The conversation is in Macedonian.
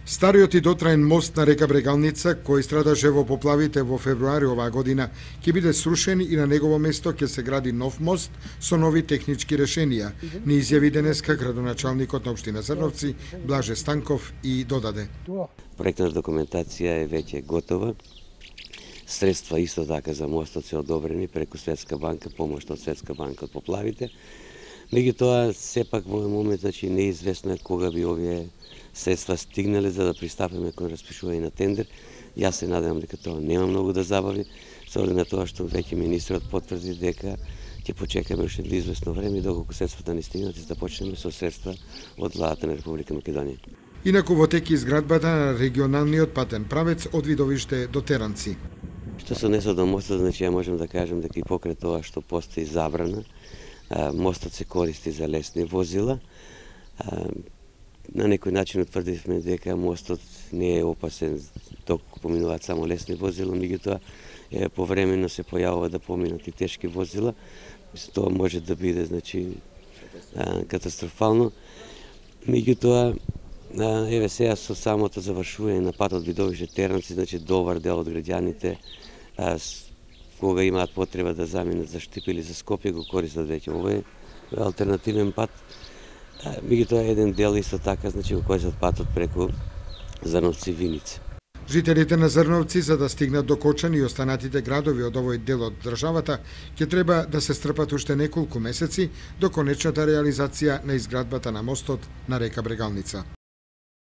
Стариот и дотраен мост на река Брегалница, кој страдаше во поплавите во февруари оваа година, ќе биде срушен и на негово место ќе се гради нов мост со нови технички решенија, ни изјави денеска градоначалникот на општина Зрновци, Блаже Станков, и додаде. Проектната документација е веќе готова. Средства исто така за мостот се одобрени преку Светска банка, помош од Светска банка од поплавите. Меѓутоа, сепак во овој момент, неизвестно е кога би овие средства стигнале за да пристапиме кон распишување на тендер. Јас се надевам дека тоа нема многу да забави, со оглед на тоа што веќе министрот потврди дека ќе почекаме уште известно време доколку средствата не стигнат и да почнеме со средства од владата на Република Македонија. Инаку во тек изградбата на регионалниот патен правец од Видовиште до Теранци. Што се однесува до мостот, ја можам да кажам дека и покрај тоа што постои забрана, мостот се користи за лесни возила. На некој начин утврдивме дека мостот не е опасен доколку поминуваат само лесни возила, меѓутоа повремено се појавува да поминат и тешки возила. Тоа може да биде катастрофално. Меѓутоа, еве сега со самото завршување на патот Видовиште Теранци, добар дел од граѓаните кога имаат потреба да заминат за Штип или за Скопје, го користат веќе овој алтернативен пат. Меѓутоа еден дел исто така, го користат патот преку Зрновци Виница. Жителите на Зрновци, за да стигнат до Кочани и останатите градови од овој дел од државата, ќе треба да се стрпат уште неколку месеци до конечната реализација на изградбата на мостот на река Брегалница.